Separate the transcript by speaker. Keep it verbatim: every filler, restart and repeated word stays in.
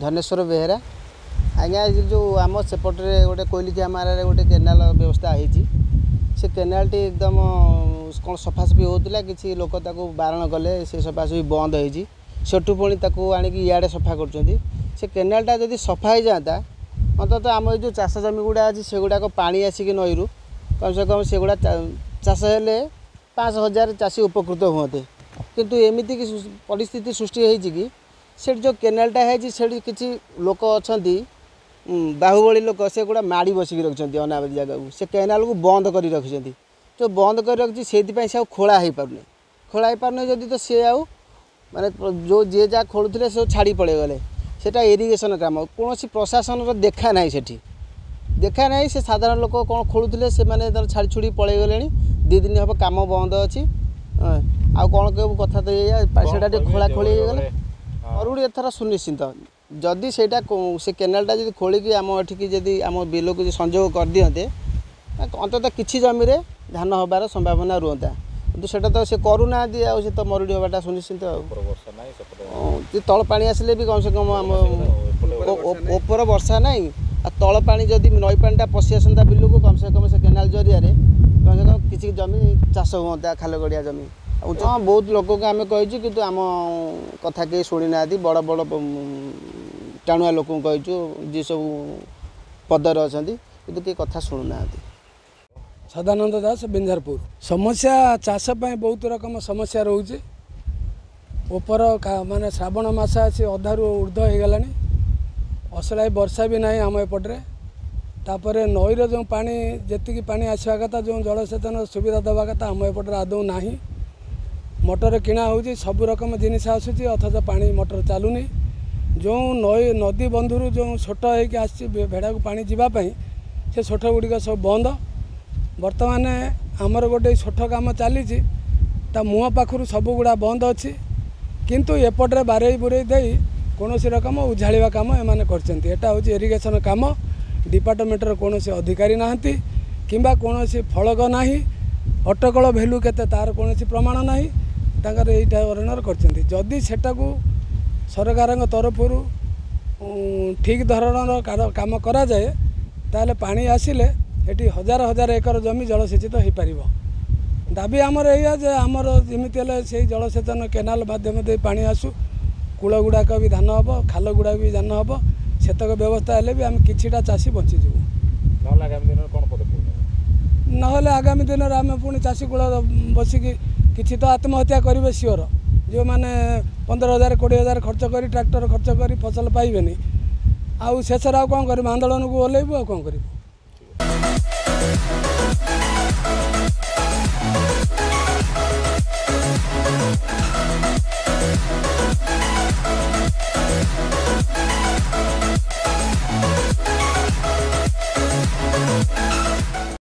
Speaker 1: ଧନେଶ୍ୱର ବେହେରା ଆଜ୍ଞା। ଏ ଯେଉଁ ଆମ ସେପଟରେ ଗୋଟେ କୋଇଲିଖିଆ ମାରାରେ ଗୋଟେ କେନାଲ ବ୍ୟବସ୍ଥା ହେଇଛି, ସେ କେନାଲଟି ଏକଦମ କ'ଣ ସଫାସଫି ହେଉଥିଲା, କିଛି ଲୋକ ତାକୁ ବାରଣ କଲେ, ସେ ସଫାସଫି ବନ୍ଦ ହେଇଛି। ସେଠୁ ପୁଣି ତାକୁ ଆଣିକି ଇଆଡ଼େ ସଫା କରୁଛନ୍ତି। ସେ କେନାଲଟା ଯଦି ସଫା ହେଇଯାଆନ୍ତା, ଅନ୍ତତଃ ଆମ ଏଇ ଯେଉଁ ଚାଷ ଜମି ଗୁଡ଼ା ଅଛି, ସେଗୁଡ଼ାକ ପାଣି ଆସିକି ନଈରୁ କମ୍ ସେ କମ୍ ସେଗୁଡ଼ା ଚାଷ ହେଲେ ପାଞ୍ଚ ହଜାର ଚାଷୀ ଉପକୃତ ହୁଅନ୍ତେ। କିନ୍ତୁ ଏମିତି କି ପରିସ୍ଥିତି ସୃଷ୍ଟି ହେଇଛି କି ସେଠି ଯେଉଁ କେନାଲଟା ହେଇଛି, ସେଠି କିଛି ଲୋକ ଅଛନ୍ତି, ବାହୁବଳୀ ଲୋକ, ସେଗୁଡ଼ା ମାଡ଼ି ବସିକି ରଖିଛନ୍ତି ଅନାବାଦୀ ଜାଗାକୁ, ସେ କେନାଲକୁ ବନ୍ଦ କରି ରଖିଛନ୍ତି। ଯେଉଁ ବନ୍ଦ କରି ରଖିଛି, ସେଇଥିପାଇଁ ସେ ଆଉ ଖୋଳା ହେଇପାରୁନି। ଖୋଳା ହେଇପାରୁନି ଯଦି ତ ସିଏ ଆଉ ମାନେ ଯେଉଁ ଯିଏ ଯାହା ଖୋଳୁଥିଲେ ସବୁ ଛାଡ଼ି ପଳେଇଗଲେ। ସେଇଟା ଇରିଗେସନ୍ କାମ, କୌଣସି ପ୍ରଶାସନର ଦେଖା ନାହିଁ, ସେଠି ଦେଖା ନାହିଁ। ସେ ସାଧାରଣ ଲୋକ କ'ଣ ଖୋଳୁଥିଲେ, ସେମାନେ ତାର ଛାଡ଼ି ଛୁଡ଼ି ପଳେଇଗଲେଣି। ଦୁଇ ଦିନ ହେବ କାମ ବନ୍ଦ ଅଛି। ଆଉ କ'ଣ କହିବୁ, କଥା ତ ଏଇଆ, ସେଇଟା ଟିକେ ଖୋଳା ଖୋଳି ହେଇଗଲେ ମରୁଡ଼ି ଏଥର ସୁନିଶ୍ଚିତ। ଯଦି ସେଇଟା ସେ କେନାଲଟା ଯଦି ଖୋଳିକି ଆମ ଏଠିକି ଯଦି ଆମ ବିଲକୁ ଯଦି ସଂଯୋଗ କରିଦିଅନ୍ତେ, ଅନ୍ତତଃ କିଛି ଜମିରେ ଧାନ ହେବାର ସମ୍ଭାବନା ରୁହନ୍ତା। କିନ୍ତୁ ସେଇଟା ତ ସେ କରୁନାହାନ୍ତି, ଆଉ ସେ ତ ମରୁଡ଼ି ହେବାଟା ସୁନିଶ୍ଚିତ। ଆଉ ତଳ ପାଣି ଆସିଲେ ବି କମ୍ ସେ କମ୍ ଆମ ଉପର ବର୍ଷା ନାହିଁ, ଆଉ ତଳ ପାଣି ଯଦି ନଈ ପାଣିଟା ପଶି ଆସନ୍ତା ବିଲକୁ, କମ୍ ସେ କମ୍ ସେ କେନାଲ ଜରିଆରେ କମ୍ ସେ କମ୍ କିଛି ଜମି ଚାଷ ହୁଅନ୍ତା, ଖାଲ ଗଡ଼ିଆ ଜମି। ଆଉ ହଁ, ବହୁତ ଲୋକଙ୍କୁ ଆମେ କହିଛୁ, କିନ୍ତୁ ଆମ କଥା କେହି ଶୁଣିନାହାନ୍ତି। ବଡ଼ ବଡ଼ ଟାଣୁଆ ଲୋକଙ୍କୁ କହିଛୁ, ଯିଏ ସବୁ ପଦରେ ଅଛନ୍ତି, କିନ୍ତୁ କେହି କଥା ଶୁଣୁନାହାନ୍ତି।
Speaker 2: ସଦାନନ୍ଦ ଦାସ, ବିଞ୍ଝାରପୁର। ସମସ୍ୟା ଚାଷ ପାଇଁ ବହୁତ ରକମ ସମସ୍ୟା ରହୁଛି। ଉପର ମାନେ ଶ୍ରାବଣ ମାସ ଆସି ଅଧାରୁ ଉର୍ଦ୍ଧ୍ୱ ହେଇଗଲାଣି, ଅସରାଏ ବର୍ଷା ବି ନାହିଁ ଆମ ଏପଟରେ। ତାପରେ ନଈର ଯେଉଁ ପାଣି, ଯେତିକି ପାଣି ଆସିବା କଥା, ଯେଉଁ ଜଳସେଚନ ସୁବିଧା ଦେବା କଥା, ଆମ ଏପଟରେ ଆଦୌ ନାହିଁ। ମଟର କିଣା ହେଉଛି, ସବୁ ରକମ ଜିନିଷ ଆସୁଛି, ଅଥଚ ପାଣି ମଟର ଚାଲୁନି। ଯେଉଁ ନଈ ନଦୀ ବନ୍ଧରୁ ଯେଉଁ ଛୋଟ ହେଇକି ଆସିଛି ଭେଡ଼ାକୁ ପାଣି ଯିବା ପାଇଁ, ସେ ଛୋଟ ଗୁଡ଼ିକ ସବୁ ବନ୍ଦ। ବର୍ତ୍ତମାନ ଆମର ଗୋଟେ ଛୋଟ କାମ ଚାଲିଛି, ତା ମୁହଁ ପାଖରୁ ସବୁଗୁଡ଼ା ବନ୍ଦ ଅଛି, କିନ୍ତୁ ଏପଟରେ ବାରେଇ ବୁରେଇ ଦେଇ କୌଣସି ରକମ ଉଝାଳିବା କାମ ଏମାନେ କରିଛନ୍ତି। ଏଟା ହେଉଛି ଇରିଗେସନ୍ କାମ। ଡିପାର୍ଟମେଣ୍ଟର କୌଣସି ଅଧିକାରୀ ନାହାନ୍ତି କିମ୍ବା କୌଣସି ଫଳକ ନାହିଁ, ଅଟକଳ ଭ୍ୟାଲୁ କେତେ ତା'ର କୌଣସି ପ୍ରମାଣ ନାହିଁ। ତାଙ୍କର ଏଇଟା ଧରଣର କରିଛନ୍ତି। ଯଦି ସେଟାକୁ ସରକାରଙ୍କ ତରଫରୁ ଠିକ୍ ଧରଣର କାମ କରାଯାଏ, ତାହେଲେ ପାଣି ଆସିଲେ ଏଠି ହଜାର ହଜାର ଏକର ଜମି ଜଳସେଚିତ ହୋଇପାରିବ। ଦାବି ଆମର ଏଇଆ ଯେ ଆମର ଯେମିତି ହେଲେ ସେଇ ଜଳସେଚନ କେନାଲ ମାଧ୍ୟମ ଦେଇ ପାଣି ଆସୁ, କୂଳ ଗୁଡ଼ାକ ବି ଧାନ ହେବ, ଖାଲ ଗୁଡ଼ାକ ବି ଧାନ ହେବ। ସେତକ ବ୍ୟବସ୍ଥା ହେଲେ ବି ଆମେ କିଛିଟା ଚାଷୀ ବଞ୍ଚିଯିବୁ। ନହେଲେ ଆଗାମୀ ଦିନରେ ଆମେ ପୁଣି ଚାଷୀ କୂଳ ବସିକି କିଛି ତ ଆତ୍ମହତ୍ୟା କରିବେ ସିଓର। ଯେଉଁମାନେ ପନ୍ଦର ହଜାର କୋଡ଼ିଏ ହଜାର ଖର୍ଚ୍ଚ କରି, ଟ୍ରାକ୍ଟର ଖର୍ଚ୍ଚ କରି ଫସଲ ପାଇବେନି, ଆଉ ଶେଷରେ ଆଉ କ'ଣ କରିବୁ? ଆନ୍ଦୋଳନକୁ ଓହ୍ଲେଇବୁ, ଆଉ କ'ଣ କରିବୁ?